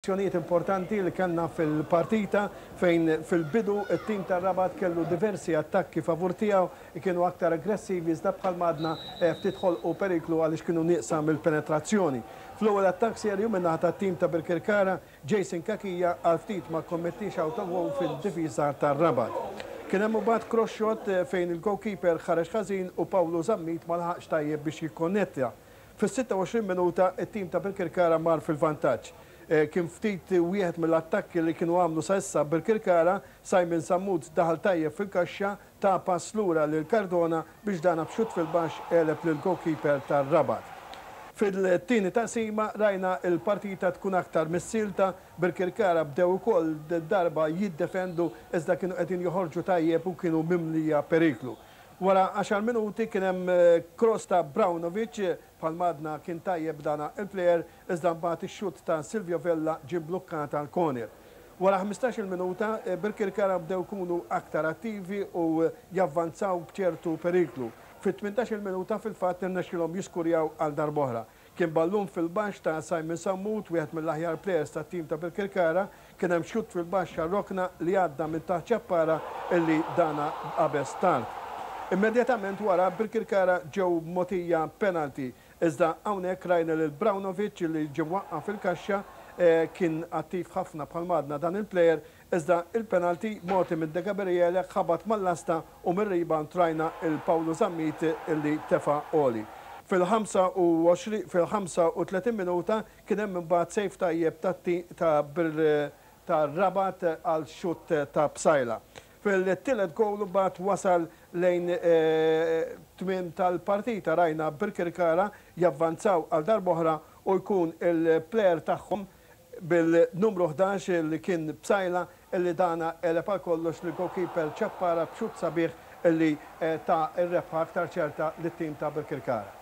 Azzjonijiet importanti li kellna fil-partita fejn fil-bidu t-tim tar-Rabat kellu diversi attakki favur tiegħu, kienu aktar aggressivi iżda bħalma għadna ftit ħolqu periklu għaliex kienu nieqsa mill-penetrazzjoni. Fl-ewwel attakk serju min-naħa tat-tim ta' Birkirkara, Jason Cachia għal ftit ma kkommettiex out-of-goal fid-difiża tar-Rabat. Kien hemm imbagħad cross shot fejn il-goalkeeper ħareġ ħażin u Paolo Zammit ma laħaqx tajjeb biex jikkonnetta. Fis-26 minuta t-tim ta' Birkirkara mar fil-vantaġġ. Kien ftit wieħed mill-attakki li kienu għamlu sa issa Birkirkara, Simon Sammut daħal tajjeb fil-kaxxa, ta pass lura lil Cardona biex dana b'xutt fil-baxx għeleb lill-goalkeeper tar-Rabat. Fil-tieni taqsima rajna l-partita tkun aktar missielta, Birkirkara bdew ukoll darba jiddefendu iżda kienu qegħdin joħorġu tajjeb u kienu mimlija periklu. Wara għaxar minuti kien hemm cross ta' Braunovic, bħalma għadna kien tajjeb dana il-plejer, iżda mbagħad ix-xutt ta' Silvio Vella ġie mblukkat għal corner. Wara ħmistax-il minuta, Birkirkara bdew ikunu aktar attivi u javvanzaw b'ċertu periklu. Fit-tmintax-il minuta fil-fatt irnexxielhom jiskurjaw għal darb'oħra. Kien ballun fil-baxx ta' Simon Sammut, wieħed mill-aħjar plejers tat-tim ta' Birkirkara. Kien hemm xutt fil-baxx għar-rokna li għadda minn taħt Ciappara illi dana qabeż tard. Immedjatament wara Birkirkara ġew mogħtija penalty. Iżda hawnhekk rajna lil Braunovic li ġie mwaqqa' fil-kaxxa. Kien attiv ħafna bħalma għadna dan il-plejer Iżda il-penalty mogħti minn De Gabriele ħabat mal-lasta u mir-rebound rajna 'l Paolo Zammit li tefa' għoli. Fil-25 fil-35 minuta kien hemm imbagħad save tajjeb ta' ta' Rabat għal xutt ta' Psaila. Fil-tielet goal imbagħad wasal lejn tmiem tal-partita rajna Birkirkara javvanzaw għal darb'oħra u jkun il-plejer tagħhom bil-numru 11 li kien Psaila li dana għeleb għal kollox lill-goalkeeper Ciappara b'xutt sabiħ li ta r-rebħa aktar ċerta lit-tim ta' Birkirkara.